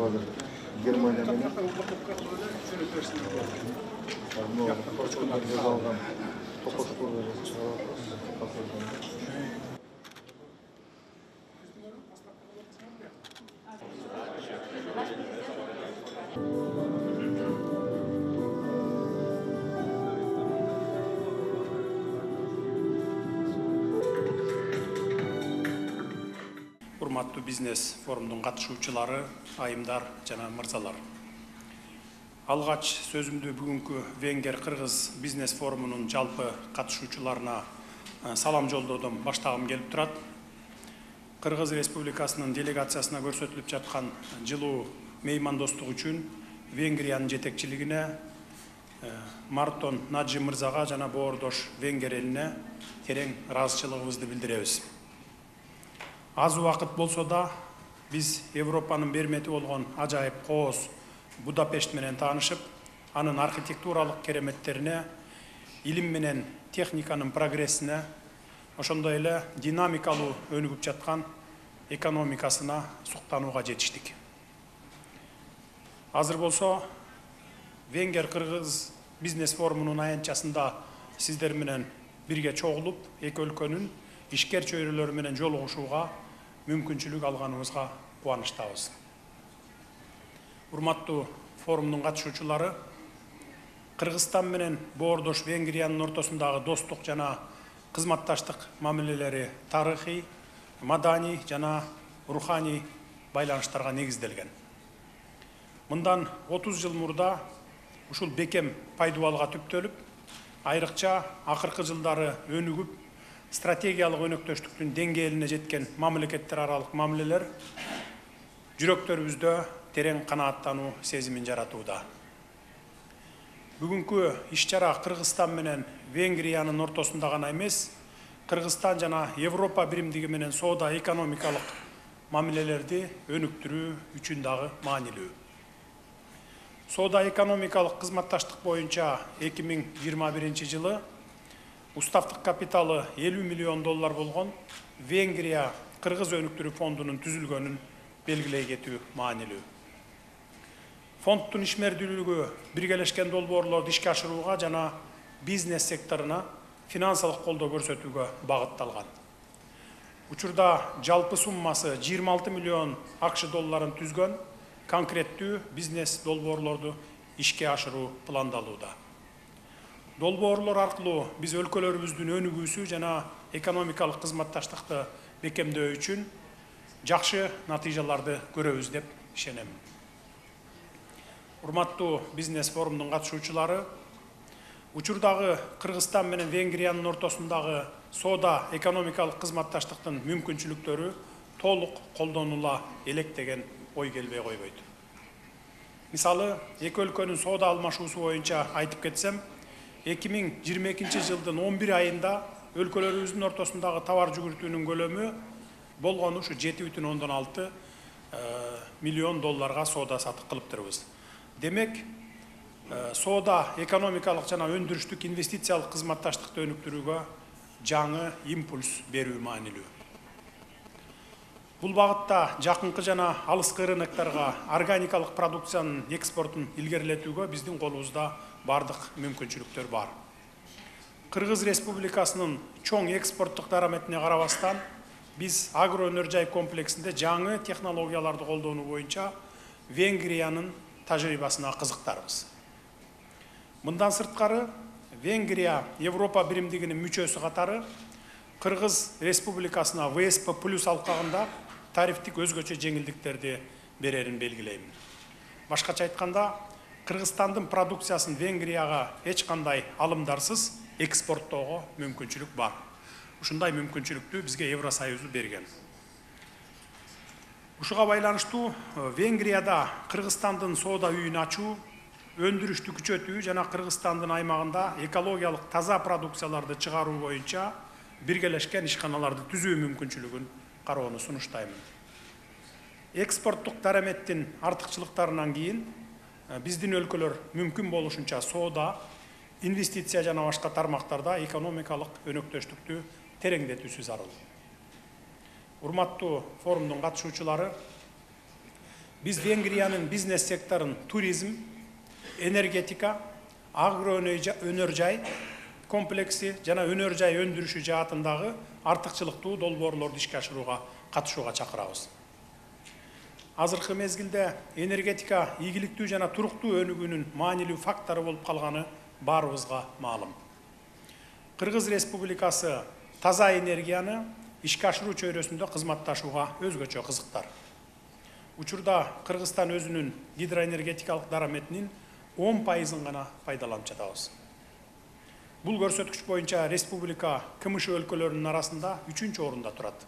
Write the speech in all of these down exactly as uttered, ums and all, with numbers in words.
азыр Германия менен точкадан жасалган токошколор чыгарат. Урматтуу бизнес форумдун катышуучулары, айымдар жана мырзалар. Алгач сөзүмдү бүгүнкү Венгер-Кыргыз бизнес форумунун жалпы катышуучуларына салам жолдодон баштагым келип турат. Кыргыз Республикасынын делегациясына көрсөтүлүп жаткан жылуу меймандостук үчүн Венгриянын жетекчилигине, Мартон Наджи мырзага жана боордош Венгер элине терең ыраазычылыгыбызды билдиребиз. Аз убакыт болсо да биз Европанын бермети болгон ажайып кооз Будапешт менен таанышып, анын архитектуралык кереметтерине, илим менен техниканын прогрессине, ошондой эле динамикалуу өнүгүп жаткан экономикасына суктанууга жетиштик. Азыр болсо Венгер-Кыргыз бизнес форумунун аянтчасында сиздер менен бирге чогулуп, эки өлкөнүн ишкер чөйрөлөрү менен жолугушууга мүмкүнчүлүк алганыбызга кубанычтабыз. Урматтуу форумдун катышуучулары, Кыргызстан менен боордош Венгриянын ортосундагы достук жана кызматташтык мамилелери тарыхый, маданий жана руханий байланыштарга негизделген. Мындан отуз жыл мурда ушул бекем пайдубалга түптөлүп, айрыкча акыркы жылдары өнүгүп, стратегиялык өнөктөштүктүн деңгээлине жеткен мамлекеттер аралык мамилелер жүрөктөрүбүздө терең канааттануу сезимин жаратууда. Бүгүнкү иш-чара Кыргызстан менен Венгриянын ортосунда гана эмес, Кыргызстан жана Европа биримдиги менен соода экономикалык мамилелерди өнүктүрүү үчүн дагы маанилүү. Соода экономикалык кызматташтык боюнча эки миң жыйырма биринчи жылы уставтык капиталы элүү миллион доллар болгон Венгрия Кыргыз өнүктүрүү фондунун түзүлгөнүн белгилей кетүү маанилүү. Фонддун ишмердүүлүгү биргелешкен долбоорлорду ишке ашырууга жана бизнес секторуна финансылык колдоо көрсөтүүгө багытталган. Учурда жалпы суммасы жыйырма алты миллион акш долларын түзгөн конкреттүү бизнес долбоорлорду ишке ашыруу пландалууда. Долбоорлор аркылуу биз өлкөлөрүбүздүн өнүгүүсү жана экономикалык кызматташтыкты бекемдөө үчүн жакшы натыйжаларды көрөбүз деп ишенем. Урматтуу бизнес форумдун катышуучулары, учурдагы Кыргызстан менен Венгриянын ортосундагы соода экономикалык кызматташтыктын мүмкүнчүлүктөрү толук колдонула элек деген ой келбей койбойт. Мисалы, эки өлкөнүн соода алмашуусу боюнча айтып кетсем, эки миң жыйырма экинчи жылдын он бир айында өлкөлөрүбүздүн ортосундагы товар жүгүртүүнүн көлөмү болгону ушу жети бүтүн ондон алты миллион долларга соода сатык кылыптырбыз. Демек, соода экономикалык жана өндүрүштүк инвестициялык кызматташтыкты өнүктүрүүгө жаңы импульс берүү маанилүү. Бул багытта жакынкы жана алыскы рыноктарга органикалык продукциянын экспортун илгерилетүүгө биздин колубузда бардык мүмкүнчүлүктөр бар. Кыргыз Республикасынын чоң экспорттук дараметине карабастан, биз агроөнөр жай комплексинде жаңы технологияларды колдонуу боюнча Венгриянын тажрыйбасына кызыктарбыз. Мындан сырткары, Венгрия Европа биримдигинин мүчөсү катары Кыргыз Республикасына вэ эс пэ плюс алкагында тарифтик өзгөчө жеңилдиктерди берерин белгилейм. Башкача айтканда, Кыргызстандын продукциясын Венгрияга эч кандай алымдарсыз экспорттоого мүмкүнчүлүк бар. Ушундай мүмкүнчүлүктү бизге Евросоюзу берген. Ушуга байланыштуу Венгрияда Кыргызстандын соода үйүн ачуу, өндүрүштү күчөтүү жана Кыргызстандын аймагында экологиялык таза продукцияларды чыгаруу боюнча биргелешкен ишканаларды түзүү мүмкүнчүлүгүн кароону сунуштаймын. Экспорттук дараметтин артыкчылыктарынан кийин биздин өлкөлөр мүмкүн болушунча соода, инвестиция жана башка тармактарда экономикалык өнөктөштүктү тереңдетүүсү зарыл. Урматтуу форумдун катышуучулары, Биз Венгриянын бизнес секторун туризм, энергетика, агро өнөр жай комплекси жана өнөр жай өндүрүшү жаатындагы артыкчылыктуу долбоорлорду ишке ашырууга катышууга чакырабыз. Азыркы мезгилде энергетика ийгиликтүү жана туруктуу өнүгүүнүн маанилүү фактору болуп калганы баарыбызга маалым. Кыргыз Республикасы таза энергияны ишке ашыруу чөйрөсүндө кызматташууга өзгөчө кызыктар. Учурда Кыргызстан өзүнүн гидроэнергетикалык дараметинин он пайызын гана пайдаланып жатабыз. Бул көрсөткүч боюнча республика КМШ өлкөлөрүнүн арасында үчүнчү орунда турат.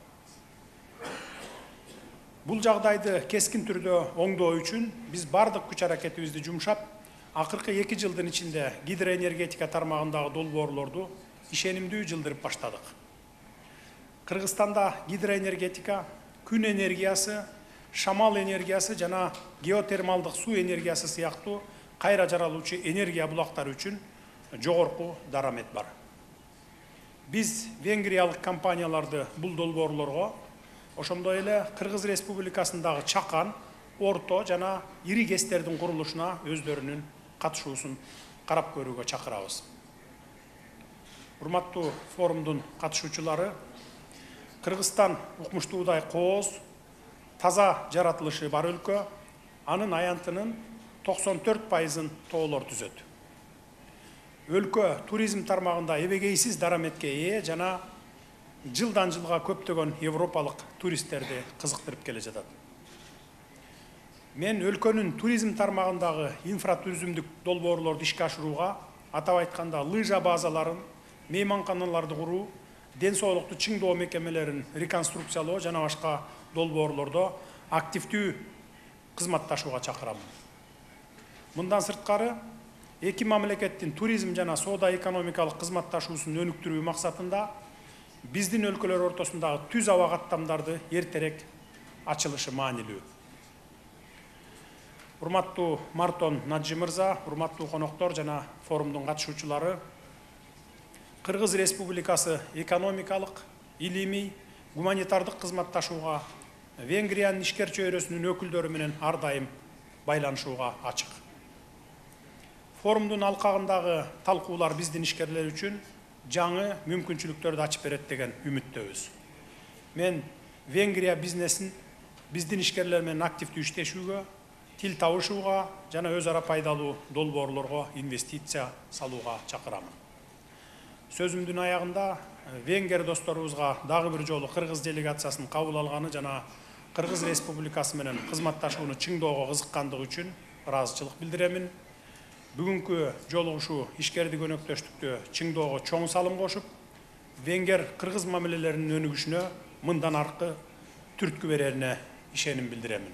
Бул жагдайды кескин түрдө оңдоо үчүн биз бардык күч аракетибизди жумшап, акыркы эки жылдын ичинде гидроэнергетика тармагындагы долбоорлорду ишенимдүү жылдырып баштадык. Кыргызстанда гидроэнергетика, күн энергиясы, шамал энергиясы жана геотермалдык суу энергиясы сыяктуу кайра жаралуучу энергия булактары үчүн жогорку дарамет бар. Биз венгриялык компанияларды бул долбоорлорго, ошондой эле Кыргыз Республикасындагы чакан, орто жана ири кестердин курулушуна өздөрүнүн катышуусун карап көрүүгө чакырабыз. Урматтуу форумдун катышуучулары, Кыргызстан укмуштуудай кооз, таза жаратылышы бар өлкө, анын аянтынын токсон төрт пайызын тоолор түзөт. Өлкө туризм тармагында эбегейсиз дараметке ээ жана жылдан жылга көптөгөн европалык туристтерди кызыктырып келе жатат. Мен өлкөнүн туризм тармагындагы инфратуризмдик долбоорлорду ишке ашырууга, атап айтканда лыжа базаларын, мейманканаларды куруу, ден соолукту чыңдоо мекемелерин реконструкциялоо жана башка долбоорлордо активдүү кызматташууга чакырамын. Мындан сырткары, эки мамлекеттин туризм жана соода экономикалык кызматташуусун өнүктүрүү максатында биздин өлкөлөр ортосундагы түз аба каттамдарды эртерээк ачылышы маанилүү. Урматтуу Мартон Наджи мырза, урматтуу коноктор жана форумдун катышуучулары, Кыргыз Республикасы экономикалык, илимий, гуманитардык кызматташууга Венгриянын ишкер чөйрөсүнүн өкүлдөрү менен ар дайым байланышууга ачык. Форумдун алкагындагы талкуулар биздин ишкерлер үчүн жаңы мүмкүнчүлүктөрдү ачып берет деген үмүттөбүз. Мен Венгрия бизнесин биздин ишкерлер менен активдүү иштешүүгө, тил табышууга жана өз ара пайдалуу долбоорлорго инвестиция салууга чакырамын. Сөзүмдүн аягында венгер досторубузга дагы бир жолу Кыргыз делегациясын кабыл алганы жана Кыргыз Республикасы менен кызматташууну чыңдоого кызыккандыгы үчүн ыраазычылык билдиремин. Бүгүнкү жолугушуу ишкердик өнөктөштүктү чыңдоого чоң салым кошуп, венгер-кыргыз мамилелеринин өнүгүшүнө мындан аркы түрткү берерине ишеним билдиремин.